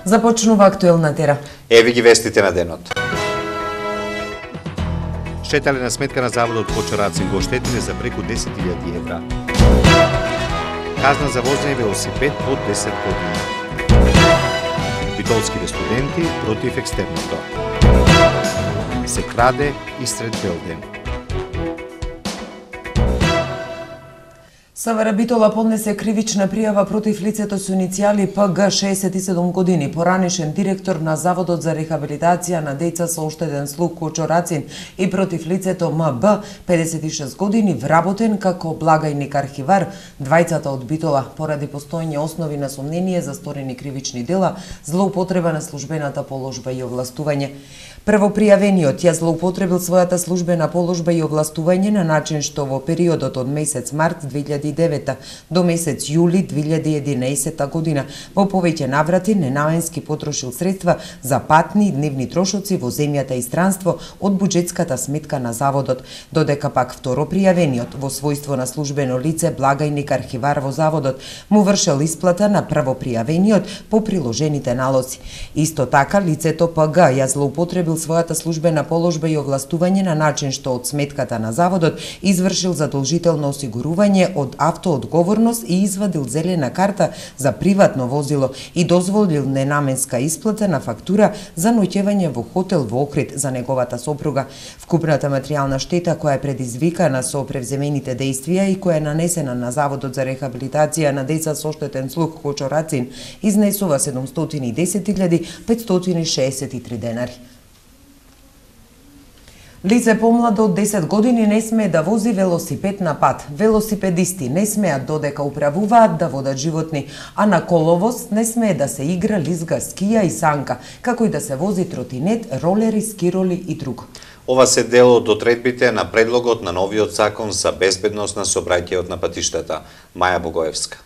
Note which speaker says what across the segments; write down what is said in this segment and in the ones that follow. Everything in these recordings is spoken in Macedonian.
Speaker 1: Започнува актуелна тера.
Speaker 2: Еви ги вестите на денот.
Speaker 3: Штеталена сметка на заводот по Чорацин го оштетиле за преку 10.000 евра. Казна за возење велосипед под 10 години. Битолските студенти против екстерното. Се краде и сред Белден.
Speaker 1: СВР Битола поднесе кривична пријава против лицето со иницијали ПГ 67 години, поранишен директор на Заводот за рехабилитација на деца со оштетен слух Чорацин и против лицето МБ 56 години, вработен како благајник архивар, двајцата од Битола поради постоење основи на сомнение за сторени кривични дела, злоупотреба на службената положба и овластување. Првопријавениот ја злоупотребил својата службена положба и овластување на начин што во периодот од месец март 2009 до месец јули 2011 година во повеќе наврати ненаменски потрошил средства за патни и дневни трошоци во земјата и странство од буџетската сметка на заводот, додека пак второпријавениот во својство на службено лице благајник архивар во заводот му вршел исплата на првопријавениот по приложените налози. Исто така лицето ПГ ја злоупотребил својата службена положба и овластување на начин што од сметката на заводот извршил задолжително осигурување од автоодговорност и извадил зелена карта за приватно возило и дозволил ненаменска исплата на фактура за ноќевање во хотел во Охрид за неговата сопруга. Вкупната материјална штета која е предизвикана со превземените дејствија и која е нанесена на Заводот за рехабилитација на деца со оштетен слух Чорацин изнесува 710.563 денари. Лице помладо од 10 години не смее да вози велосипед на пат. Велосипедисти не смеат додека управуваат да водат животни, а на коловоз не смее да се игра, лизга, скија и санка, како и да се вози тротинет, ролери, скироли и друго.
Speaker 2: Ова се дел од одредбите на предлогот на новиот закон за безбедност на сообраќајот на патиштата. Маја Богоевска.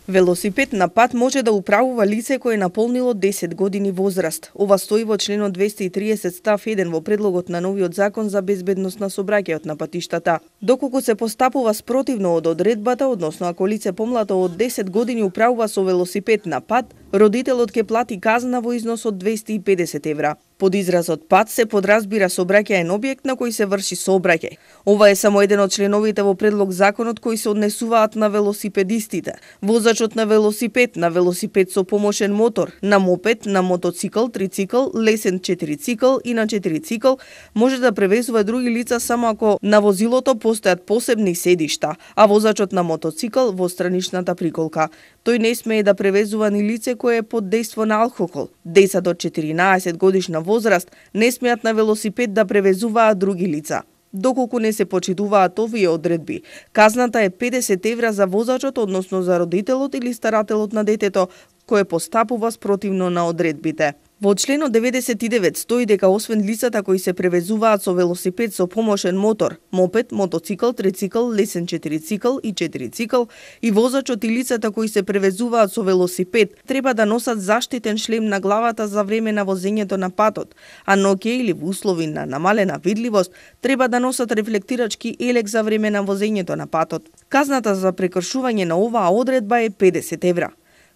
Speaker 4: Велосипед на пат може да управува лице кое е наполнило 10 години возраст. Ова стои во членот 230 став 1 во предлогот на новиот закон за безбедност на сообраќајот на патиштата. Доколку се постапува спротивно од одредбата, односно ако лице помлато од 10 години управува со велосипед на пат, родителот ќе плати казна во износ од 250 евра. Под изразот пат се подразбира сообраќаен објект на кој се врши сообраќај. Ова е само еден од членовите во предлог законот кои се однесуваат на велосипедистите. Возачот на велосипед со помошен мотор, на мопед, на мотоцикл, трицикл, лесен четирицикл и на четирицикл може да превезува други лица само ако на возилото постојат посебни седишта, а возачот на мотоцикл во страничната приколка. Тој не смее да превезува ни лице кое е под дејство на алкохол. Деца до 14 годишна возраст не смеат на велосипед да превезуваат други лица. Доколку не се почитуваат овие одредби, казната е 50 евра за возачот, односно за родителот или старателот на детето, кој постапува спротивно на одредбите. Во членот 99 стои дека освен лицата кои се превезуваат со велосипед со помошен мотор, мопед, мотоцикл, трицикл, лесен четирицикл и четирицикл и возачот и лицата кои се превезуваат со велосипед треба да носат заштитен шлем на главата за време на возењето на патот, а ноќе или во услови на намалена видливост треба да носат рефлектирачки елек за време на возењето на патот. Казната за прекршување на оваа одредба е 50 евра.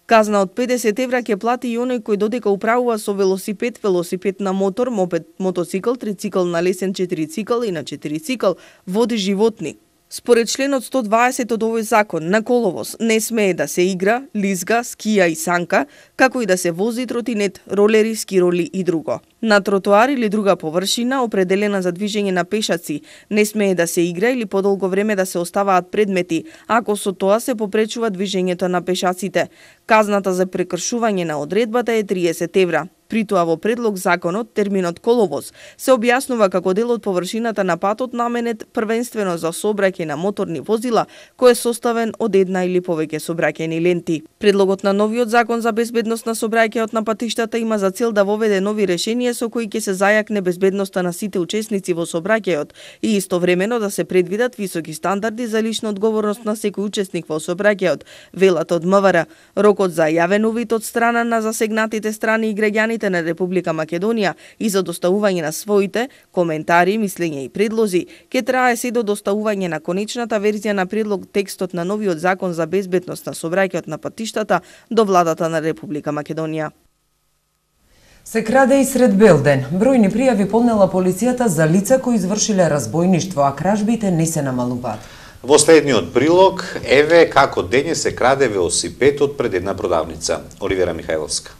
Speaker 4: Казна од 50 евра ќе плати и оној кој додека управува со велосипед на мотор, мопед, мотоцикл, трицикл, на лесен четирицикл и на четирицикл води животни. Според членот 120 од овој закон, на коловоз не смее да се игра, лизга, скија и санка, како и да се вози тротинет, ролери, скироли и друго. На тротоар или друга површина, определена за движење на пешаци, не смее да се игра или подолго време да се оставаат предмети, ако со тоа се попречува движењето на пешаците. Казната за прекршување на одредбата е 30 евра. При тоа во предлог законот, терминот коловоз се објаснува како дел од површината на патот наменет првенствено за сообраќај на моторни возила, кој е составен од една или повеќе сообраќајни ленти. Предлогот на новиот закон за безбедност на сообраќајот на патиштата има за цел да воведе нови решенија со кои ќе се зајакне безбедноста на сите учесници во сообраќајот и истовремено да се предвидат високи стандарди за лична одговорност на секој учесник во сообраќајот, велат од МВР. Рокот за јавен увид од страна на засегнатите страни и граѓани на Република Македонија и за доставување на своите коментари, мислења и предлози ќе трае се до доставување на конечната верзија на предлог текстот на новиот закон за безбедност на сообраќајот на патиштата до владата на Република Македонија.
Speaker 1: Се краде и сред бел ден. Бројни пријави поднела полицијата за лица кои извршиле разбојништво, а кражбите не се намалуваат.
Speaker 2: Во следниот прилог, еве како денес се краде велосипедот пред една продавница. Оливера Михајловска.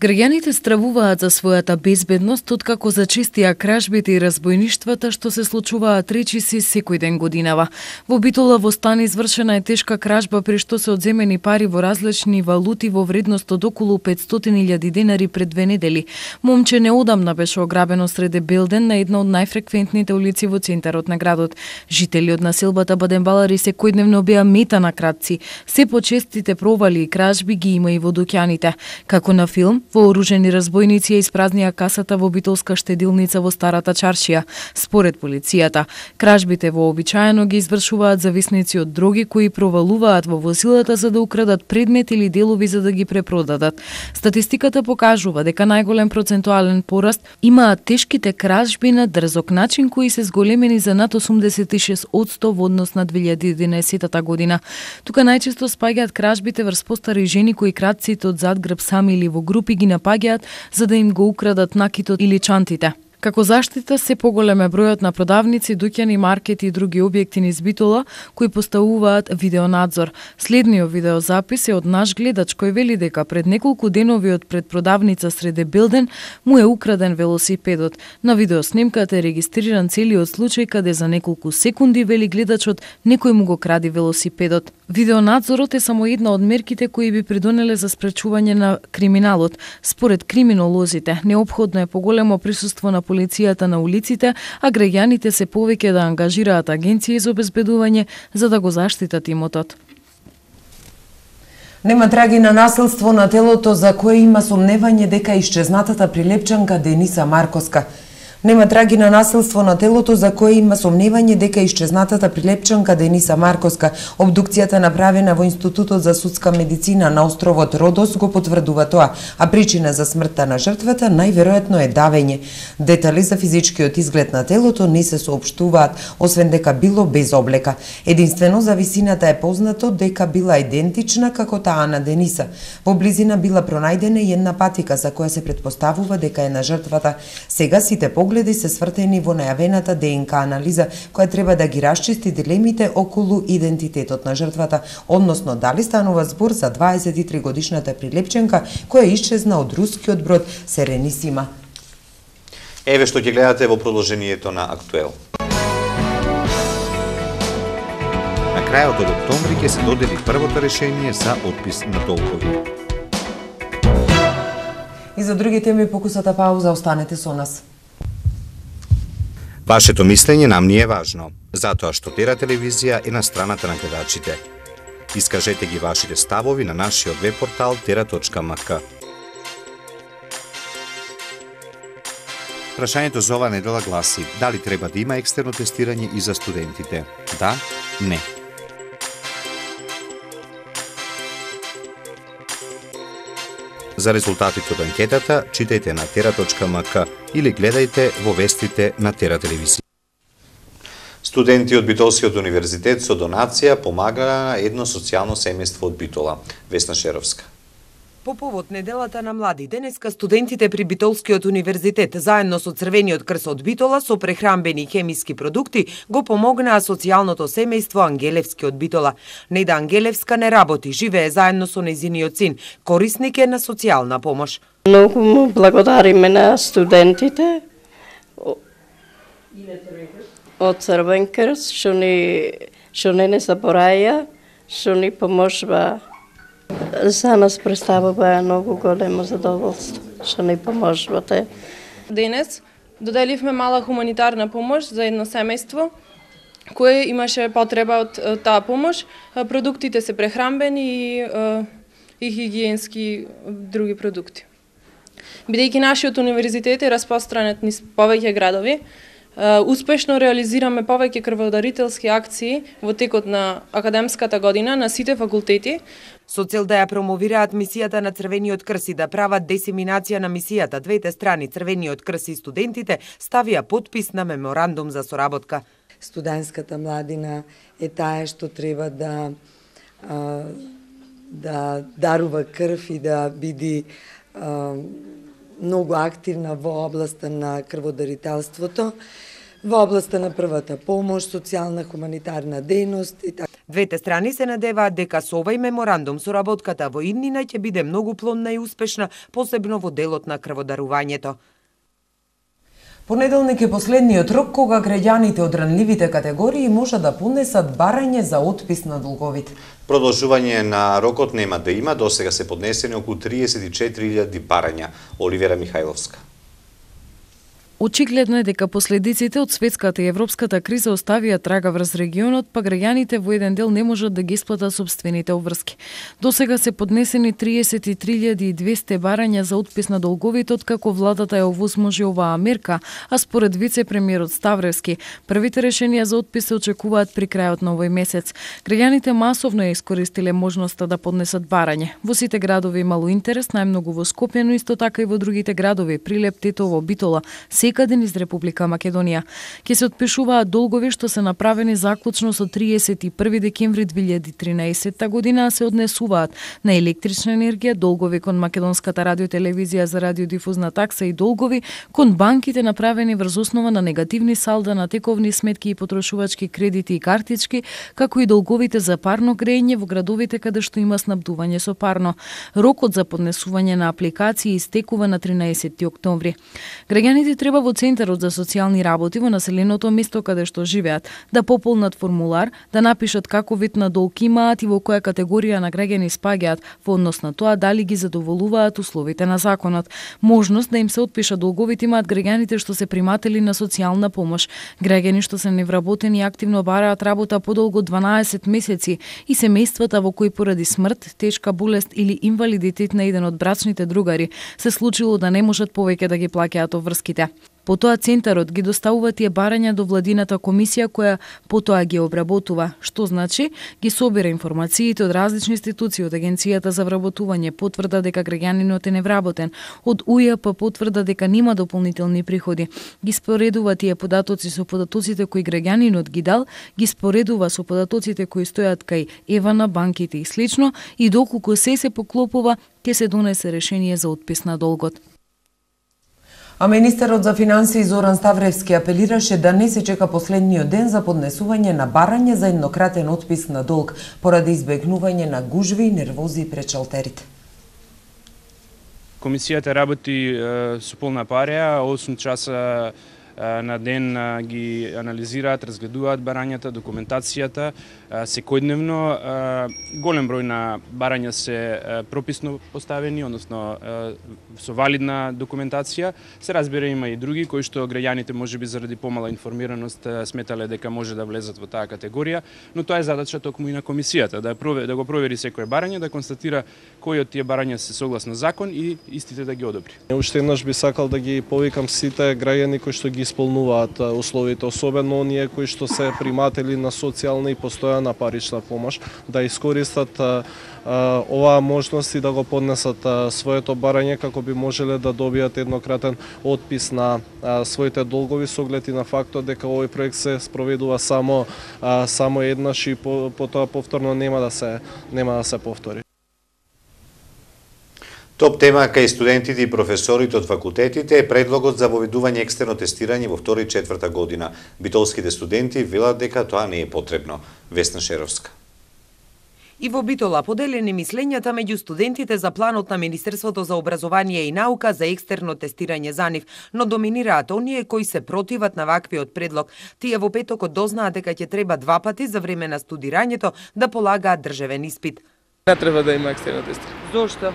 Speaker 5: Граѓаните стравуваат за својата безбедност откако зачистија кражбите и разбојништвата што се случуваат речиси секој ден годинава. Во Битола во стан извршена е тешка кражба при што се одземени пари во различни валути во вредност од околу 500.000 денари пред 2 недели. Момче неодамна беше ограбено среде Белден на една од најфреквентните улици во центарот на градот. Жители од населбата Баденбалари секојдневно беа мета на кратци. Се почестите провали и кражби ги има и во дуќаните. Како на филм, вооружени разбојници ја испразнија касата во битолска штедилница во Старата чаршија. Според полицијата, кражбите вообичаено ги извршуваат зависници од дроги кои провалуваат во возилата за да украдат предмет или делови за да ги препродадат. Статистиката покажува дека најголем процентуален пораст имаат тешките кражби на дрзок начин кои се зголемени за над 86% во однос на 2011 година. Тука најчесто спаѓаат кражбите врз постари жени кои кратците од зад грб сами или во групи ги напаѓаат за да им го украдат накитот или чантите. Како заштита се поголем е бројот на продавници, дуќани, маркети и други објекти низ Битола кои поставуваат видеонадзор. Следниот видеозапис е од наш гледач кој вели дека пред неколку денови од пред продавница среде Белден му е украден велосипедот. На видеоснимката е регистриран целиот случај каде за неколку секунди, вели гледачот, некој му го кради велосипедот. Видеонадзорот е само една од мерките кои би придонеле за спречување на криминалот. Според криминолозите, неопходно е поголемо присуство на полицијата на улиците, а граѓаните се повеќе да ангажираат агенции за обезбедување за да го заштитат имотот.
Speaker 1: Нема траги на насилство на телото за кое има сомневање дека исчезнатата прилепчанка Дениса Марковска. Нема траги на насилство на телото за кое има сомневање дека исчезнатата прилепчанка Дениса Марковска. Обдукцијата направена во Институтот за судска медицина на островот Родос го потврдува тоа, а причина за смртта на жртвата најверојатно е давење. Детали за физичкиот изглед на телото не се соопштуваат, освен дека било без облека. Единствено за висината е познато дека била идентична како таа на Дениса. Во близина била пронајдена и една патика за која се претпоставува дека е на жртвата. Сега сите погледи се свртени во најавената ДНК анализа, која треба да ги расчисти дилемите околу идентитетот на жртвата, односно дали станува збор за 23 годишната прилепченка која исчезна од рускиот брод Серенисима.
Speaker 2: Еве што ќе гледате во продолжението на Актуел.
Speaker 3: На крајот од октомври ќе се додели првото решение за отпис на долгови.
Speaker 1: И за други теми покусата пауза, останете со нас.
Speaker 3: Вашето мислење нам ни е важно, затоа што Тера телевизија е на страната на гледачите. Искажете ги вашите ставови на нашиот веб портал tera.mk. Прашањето за ова недела гласи: дали треба да има екстерно тестирање и за студентите? Да, не. За резултатите од анкетата читајте на tera.mk или гледајте во вестите на Тера телевизија.
Speaker 2: Студенти од Битолскиот универзитет со донација помагаа на едно социјално семејство од Битола. Весна Шеровска.
Speaker 1: По повод неделата на млади, денеска студентите при Битолскиот универзитет заедно со Црвениот крст од Битола со прехрамбени хемиски продукти го помогнаа социјалното семејство Ангелевски од Битола. Неда Ангелевска не работи, живее заедно со нејзиниот син, корисник е на социјална помош.
Speaker 6: Многу му благодариме на студентите од Црвен крст, што не забораја, што ни поможува. За нас представува многу големо задоволство, што ни поможувате.
Speaker 7: Денес доделивме мала хуманитарна помош за едно семејство кое имаше потреба од таа помош. Продуктите се прехрамбени и хигиенски други продукти. Бидејќи нашиот универзитет е распространет низ повеќе градови, успешно реализираме повеќе крводарителски акции во текот на академската година на сите факултети.
Speaker 1: Со цел да ја промовираат мисијата на Црвениот крст и да прават дисеминација на мисијата, двете страни, Црвениот крст и студентите, ставија подпис на меморандум за соработка.
Speaker 8: Студентската младина е таа што треба да дарува крв и да биде многу активна во областа на крводарителството, во областа на првата помош, социјална хуманитарна дејност и така.
Speaker 1: Двете страни се надеваат дека со овој меморандум соработката во иднина ќе биде многу плодна и успешна, посебно во делот на крводарувањето. Понеделник е последниот рок кога граѓаните од ранливите категории може да поднесат барање за отпис на долговите.
Speaker 2: Продолжување на рокот нема да има, досега се поднесени околу 34.000 барања. Оливера Михајловска.
Speaker 5: Очигледно е дека последиците од светската и европската криза оставија трага врз регионот, па граѓаните во еден дел не можат да ги исплатат собствените обврски. Досега се поднесени 33.200 барања за отпис на долговите откако владата ја овозможи оваа мерка, а според вице-премиерот Ставревски, првите решенија за отпис се очекуваат при крајот на овој месец. Граѓаните масовно ја искористиле можноста да поднесат барање. Во сите градови имало интерес, најмногу во Скопје, но исто така и во другите градови, Прилеп, Тетово, Битола, секаден из Република Македонија. Ке се отпишуваат долгови што се направени заклучно со 31 декември 2013 година, а се однесуваат на електрична енергија, долгови кон Македонската радиотелевизија за радиодифузна такса и долгови кон банките направени врз основа на негативни салда на тековни сметки и потрошувачки кредити и картички, како и долговите за парно грејење во градовите каде што има снабдување со парно. Рокот за поднесување на апликации истекува на 13 октомври. Граѓаните треба во Центарот за социјални работи во населеното место каде што живеат да пополнат формулар, да напишат како вид на долг имаат и во која категорија на граѓани спаѓаат во однос на тоа дали ги задоволуваат условите на законот. Можност да им се отпишат долговите имаат граѓаните што се приматели на социјална помош, граѓани што се невработени и активно бараат работа подолго 12 месеци и семејствата во кои поради смрт, тешка болест или инвалидитет на еден од брачните другари се случило да не можат повеќе да ги плаќаат обврските. Потоа Центарот ги доставува тие барања до владината комисија која потоа ги обработува, што значи ги собира информациите од различни институции, од Агенцијата за вработување, потврда дека граѓанинот е невработен, од УЈП потврда дека нема дополнителни приходи. Ги споредува тие податоци со податоците кои граѓанинот ги дал, ги споредува со податоците кои стојат кај ЕВА, банките и слично, и доколку се поклопува, ќе се донесе решение за отпис на долгот.
Speaker 1: А министерот за финансии Зоран Ставревски апелираше да не се чека последниот ден за поднесување на барање за еднократен отпис на долг поради избегнување на гужви и нервози пред шалтерите.
Speaker 9: Комисијата работи со полна пареја, 8 часа на ден ги анализираат, разгледуваат барањата, документацијата, секојдневно. Голем број на барања се прописно поставени, односно со валидна документација. Се разбира, има и други кои што граѓаните можеби заради помала информираност сметале дека може да влезат во таа категорија, но тоа е задача токму и на комисијата, да го провери секое барање, да констатира кои од тие барања се согласно закон и истите да ги одобри.
Speaker 10: Уште еднаш би сакал да ги повикам сите граѓани кои што ги исполнуваат условите, особено оние кои што се приматели на социјална и постојана парична помош, да искористат оваа можност и да го поднесат своето барање како би можеле да добијат еднократен отпис на своите долгови со оглед и на фактот дека овој проект се спроведува само еднаш и потоа повторно нема да се повтори.
Speaker 2: Топ тема кај студентите и професорите од факултетите е предлогот за воведување екстерно тестирање во 2 и 4 година. Битолските студенти велат дека тоа не е потребно. Весна Шеровска.
Speaker 1: И во Битола поделени мислењата меѓу студентите за планот на Министерството за образование и наука за екстерно тестирање за нив, но доминираат оние кои се противат на ваквиот предлог. Тие во петокот дознаат дека ќе треба 2 пати за време на студирањето да полагаат државен испит.
Speaker 11: Не треба да има екстерно тестирање.
Speaker 1: Зошто?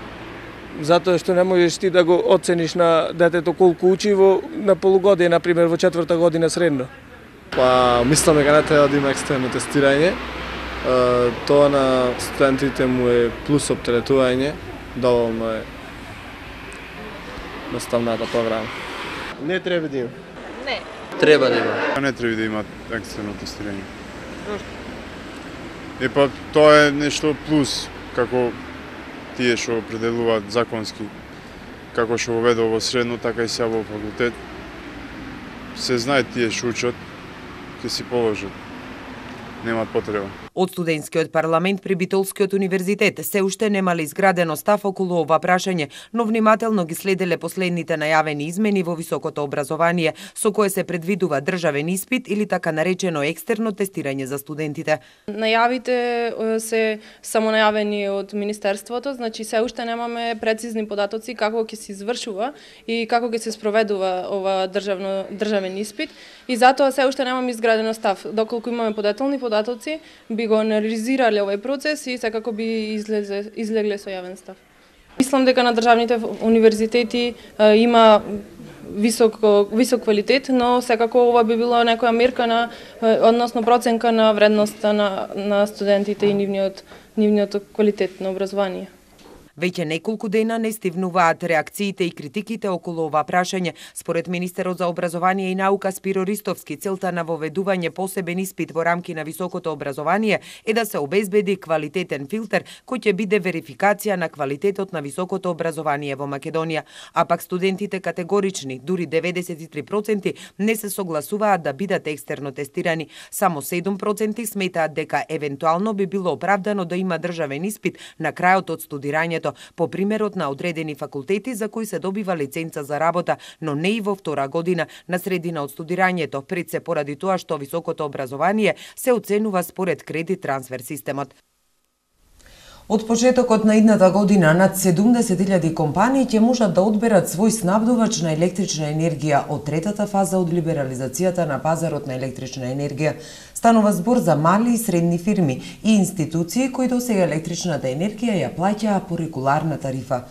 Speaker 11: Затоа што не можеш ти да го оцениш на детето колку учи на полугодие, например во 4 година средно.
Speaker 10: Па, мислам дека не треба да има екстерно тестирање. Тоа на студентите му е плюс оптеретување, доволно е наставната програма.
Speaker 11: Не треба да има.
Speaker 6: Не.
Speaker 11: Треба да има.
Speaker 12: Не треба да има екстерно тестирање. Па тоа е нешто плюс, како тие што определуваат законски, како што воведува во средно, така и сега во факултет. Се знае тие што учат, ќе си положат. Немаат потреба.
Speaker 1: Од студентскиот парламент при Битолскиот универзитет се уште немале изградено став околу ова прашање, но внимателно ги следеле последните најавени измени во високото образование, со кое се предвидува државен испит или така наречено екстерно тестирање за студентите.
Speaker 7: Најавите се самонајавени од Министерството, значи се уште немаме прецизни податоци како ќе се извршува и како ќе се спроведува ова државен испит и затоа се уште немаме изградено став. Доколку имаме подетални податоци, би го анализирале овој процес и секако би излегле со јавен став. Мислам дека на државните универзитети има висок квалитет, но секако ова би било некоја мерка односно проценка на вредноста на студентите и нивниот квалитет на образование.
Speaker 1: Веќе неколку дена не стивнуваат реакциите и критиките околу ова прашање. Според министерот за образование и наука Спиро Ристовски, целта на воведување посебен испит во рамки на високото образование е да се обезбеди квалитетен филтер кој ќе биде верификација на квалитетот на високото образование во Македонија. А пак студентите категорични, дури 93% не се согласуваат да бидат екстерно тестирани. Само 7% сметаат дека евентуално би било оправдано да има државен испит на крајот од студирањето, по примерот на одредени факултети за кои се добива лиценца за работа, но не и во втора година, на средина од студирањето, пред се поради тоа што високото образование се оценува според кредит трансфер системот. Од почетокот на идната година над 70.000 компании ќе можат да одберат свој снабдувач на електрична енергија од третата фаза од либерализацијата на пазарот на електрична енергија. Станува збор за мали и средни фирми и институции кои досега електричната енергија ја плаќаа по регуларна тарифа.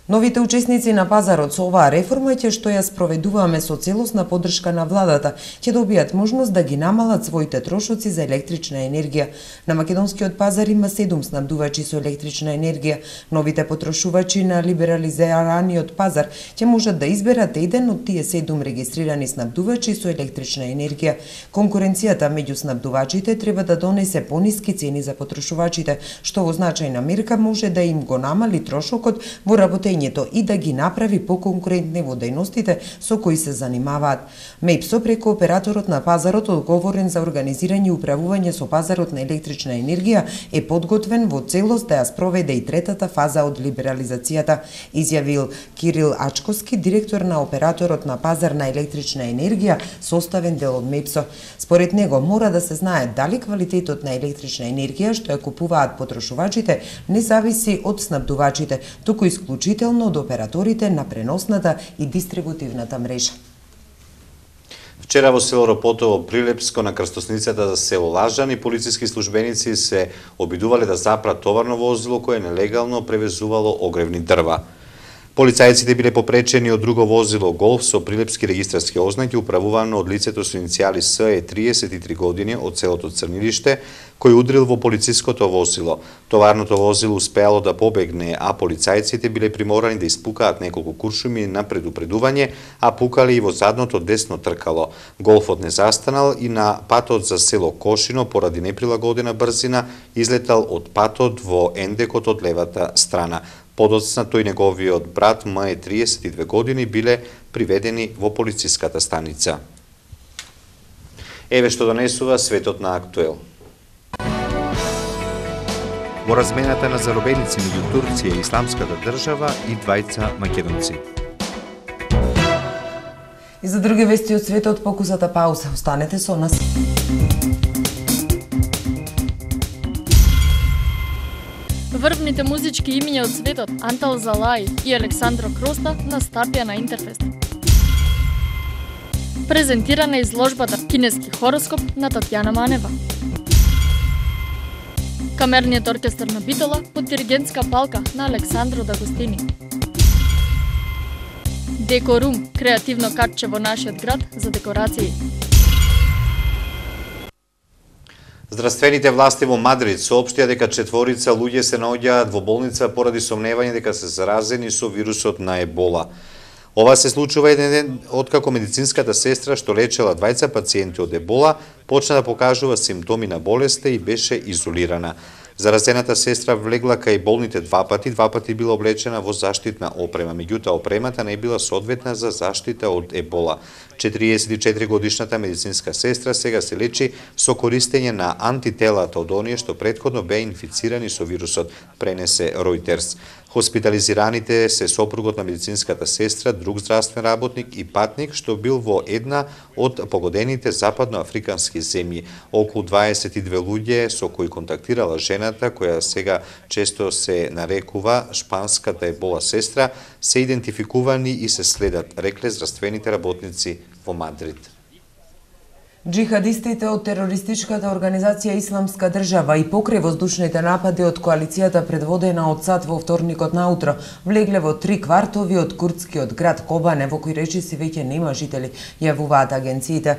Speaker 1: Новите учесници на пазарот со оваа реформа што ја спроведуваме со целосна поддршка на владата, ќе добијат можност да ги намалат своите трошоци за електрична енергија. На македонскиот пазар има 7 снабдувачи со електрична енергија. Новите потрошувачи на либерализираниот пазар ќе можат да изберат еден од тие 7 регистрирани снабдувачи со електрична енергија. Конкуренцијата меѓу снабдувачите треба да донесе пониски цени за потрошувачите, што во значајна мерка може да им го намали трошокот во работењето и да ги направи поконкурентни во дејностите со кои се занимаваат. МЕПСО преку операторот на пазарот одговорен за организирање и управување со пазарот на електрична енергија е подготвен во целост да ја спроведе и третата фаза од либерализацијата, изјавил Кирил Ачковски, директор на операторот на пазар на електрична енергија, составен дел од МЕПСО. Според него мора да се знае дали квалитетот на електрична енергија што ја купуваат потрошувачите не зависи од снабдувачите, туку исклучително од операторите на преносната и дистрибутивната мрежа.
Speaker 2: Вчера во село Ропотово, Прилепско, на крстосницата за село Лажани, полициски службеници се обидувале да запрат товарно возило кое нелегално превезувало огревни дрва. Полицајците биле попречени од друго возило Голф со прилепски регистарски ознаки управувано од лицето со иницијали С 33 години од селото Црнилиште, кој удрил во полициското возило. Товарното возило успеало да побегне, а полицајците биле приморани да испукаат неколку куршуми на предупредување, а пукале и во задното десно тркало. Голфот не застанал и на патот за село Кошино поради неприлагодена брзина излетал од патот во ендекот од левата страна. Подоцна тој неговиот брат М 32 години биле приведени во полициската станица. Еве што донесува светот на Актуел.
Speaker 3: Во размената на заробеници меѓу Турција и Исламската држава и двајца македонци.
Speaker 1: И за други вести од светот покусата пауза. Останете со нас.
Speaker 13: Врвните музички имиња од светот Антал Залаи и Александро Кроста на стапија на Интерфест. Презентирана изложбата Кинески хороскоп на Татјана Манева. Камерниот оркестар на Битола под диригентска палка на Александро Дагостини. Декорум, креативно катче во нашиот град за декорации.
Speaker 2: Здравствените власти во Мадрид соопштија дека 4 луѓе се наоѓаат во болница поради сомневање дека се заразени со вирусот на Ебола. Ова се случува еден ден откако медицинската сестра што лечела 20 пациенти од Ебола почна да покажува симптоми на болеста и беше изолирана. Заразената сестра влегла кај болните два пати била облечена во заштитна опрема, меѓутоа опремата не била соодветна за заштита од ебола. 44 годишната медицинска сестра сега се лечи со користење на антителата од оние што претходно беа инфицирани со вирусот, пренесе Reuters. Хоспитализираните се сопругот на медицинската сестра, друг здравствен работник и патник што бил во една од погодените западноафрикански земји. Околу 22 луѓе со кои контактирала жената, која сега често се нарекува шпанската ебола сестра, се идентификувани и се следат, рекле здравствените работници во Мадрид.
Speaker 1: Джихадистите од терористичката организација Исламска држава и покрај воздушните напади од коалицијата предводена од САД во вторникот наутро влегле во 3 квартови од курдскиот град Кобане, во кој речиси веќе нема жители, јавуваат агенциите.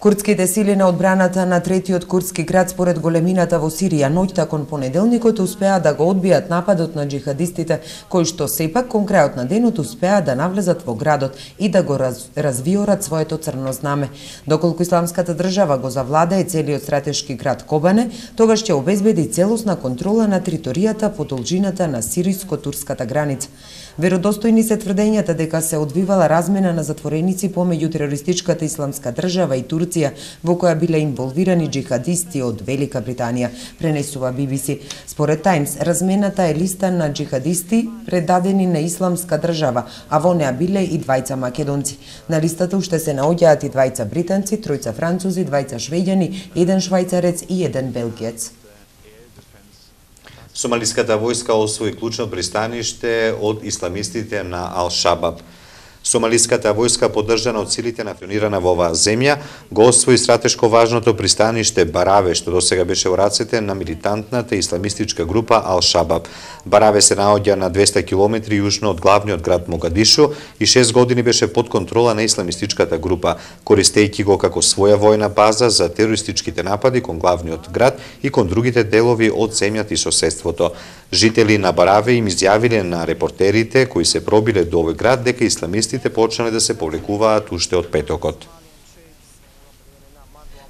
Speaker 1: Курдските сили на одбраната на третиот курдски град според големината во Сирија ноќта кон понеделникот успеа да го одбијат нападот на джихадистите, кои што сепак кон крајот на денот успеа да навлезат во градот и да го развиорат своето црно знаме. Доколку Исламската држава го завладее целиот стратешки град Кобане, тогаш ќе обезбеди целосна контрола на територијата по должината на сириско-турската граница. Веродостојни се тврдењата дека се одвивала размена на затвореници помеѓу терористичката Исламска држава и Турција, во која биле инволвирани джихадисти од Велика Британија, пренесува BBC. Според Таймс, размената е листа на джихадисти предадени на Исламска држава, а во неа биле и двајца македонци. На листата уште се наоѓаат и двајца британци, тројца французи, двајца швеѓани, еден швајцарец и еден белгиец.
Speaker 2: Сомалиската војска освои клучно пристаниште од исламистите на Ал-Шабаб. Сомалиската војска, поддржана од силите национирана во оваа земја, го освои стратешко важното пристаниште Бараве, што досега беше во рацете на милитантната исламистичка група Ал-Шабаб. Бараве се наоѓа на 200 км јужно од главниот град Могадишу и 6 години беше под контрола на исламистичката група, користејќи го како своја војна база за терористичките напади кон главниот град и кон другите делови од земјата и соседството. Жители на Бараве им изјавиле на репортерите кои се пробиле до овој град дека исламистите почнале да се повлекуваат уште од петокот.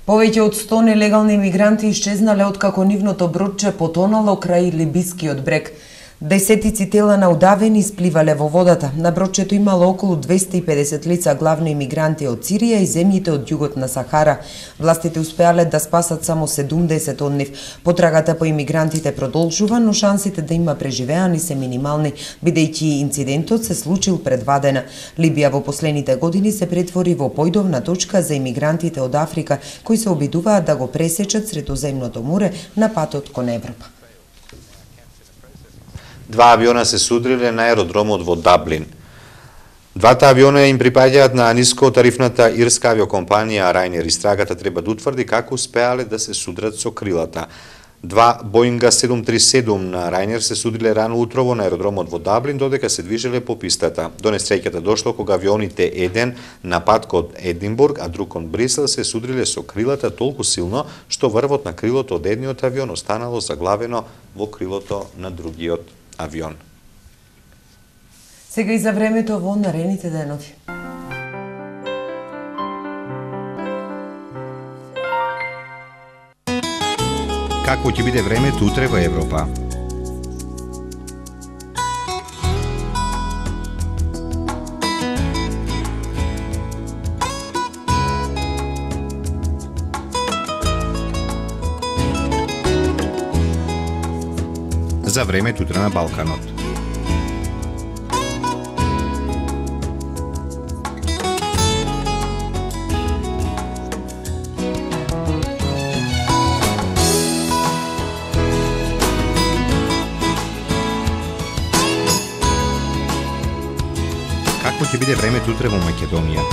Speaker 1: Повеќе од 100 нелегални мигранти исчезнале откако нивното бродче потонало крај либискиот брег. Десетици тела на удавени испливале во водата. На бродчето имало околу 250 лица, главно имигранти од Сирија и земјите од југот на Сахара. Властите успеале да спасат само 70 од нив. Потрагата по имигрантите продолжува, но шансите да има преживеани се минимални, бидејќи инцидентот се случил пред 2 дена. Либија во последните години се претвори во појдовна точка за имигрантите од Африка, кои се обидуваат да го пресечат Средоземното море на патот кон Европа.
Speaker 2: 2 авиона се судриле на аеродромот во Даблин. Двата авиона им припаѓаат на нискотарифната ирска авиокомпанија Ryanair. Истрагата треба да утврди како успеале да се судрат со крилата. 2 Боинга 737 на Ryanair се судриле рано утрово на аеродромот во Даблин, додека се движеле по пистата. До несреќата дошло кога авионите еден на пат кон Единбург, а друг кон Брисел се судриле со крилата толку силно, што врвот на крилото од едниот авион останало заглавено во крилото на другиот авион.
Speaker 1: Сега и за времето во наредните денови.
Speaker 3: Какво ќе биде времето утре во Европа? За времето утре на Балканот. Какво ќе биде времето утре во Македонија?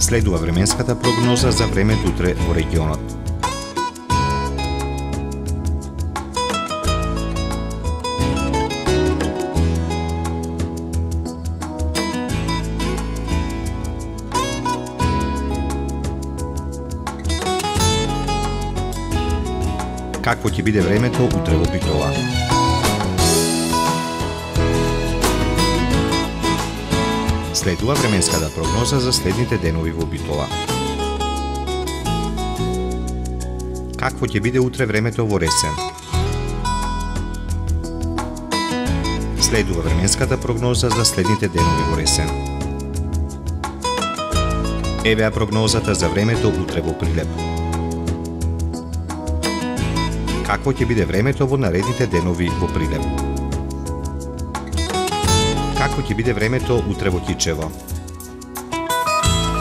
Speaker 3: Следува временската прогноза за времето утре во регионот. Какво ќе биде времето утре во Битола? Следува временската прогноза за следните денови во Битола. Какво ќе биде утре времето во Ресен? Следува временската прогноза за следните денови во Ресен. Евеа прогнозата за времето утре во Прилеп. Какво ќе биде времето во наредните денови во Прилеп? Какво ќе биде времето утре во Кичево?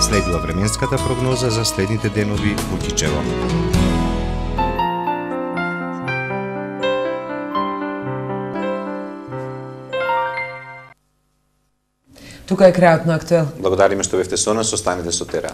Speaker 3: Следува временската прогноза за следните денови во Кичево.
Speaker 1: Тука е крајот на Актуел.
Speaker 2: Благодариме што бевте со нас, останете со Тера.